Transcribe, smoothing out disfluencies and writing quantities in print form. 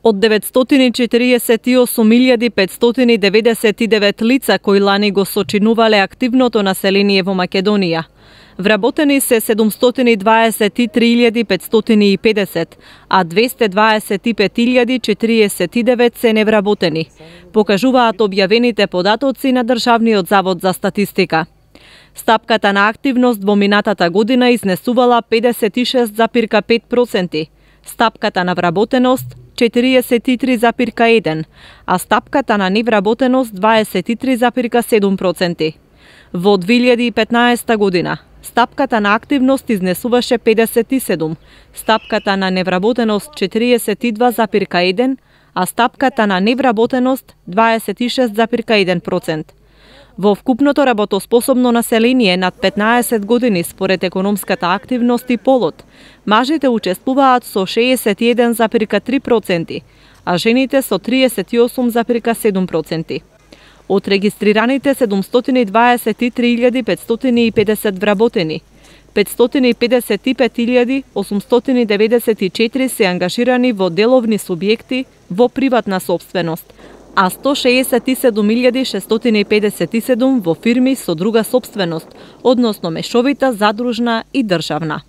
Од 948.599 лица кои лани го сочинувале активното население во Македонија, вработени се 723.550, а 225.049 се невработени, покажуваат објавените податоци на Државниот завод за статистика. Стапката на активност во минатата година изнесувала 56,5%, стапката на вработеност 43,1%, а стапката на невработеност 23,7%. Во 2015 година стапката на активност изнесуваше 57, стапката на невработеност 42,1%, а стапката на невработеност 26,1%. Во вкупното работоспособно население над 15 години според економската активност и полот, мажите учествуваат со 61,3%, а жените со 38,7%. Од регистрираните 723.550 вработени, 555.894 се ангажирани во деловни субјекти во приватна сопственост, а 167.657 во фирми со друга сопственост, односно мешовита, задружна и државна.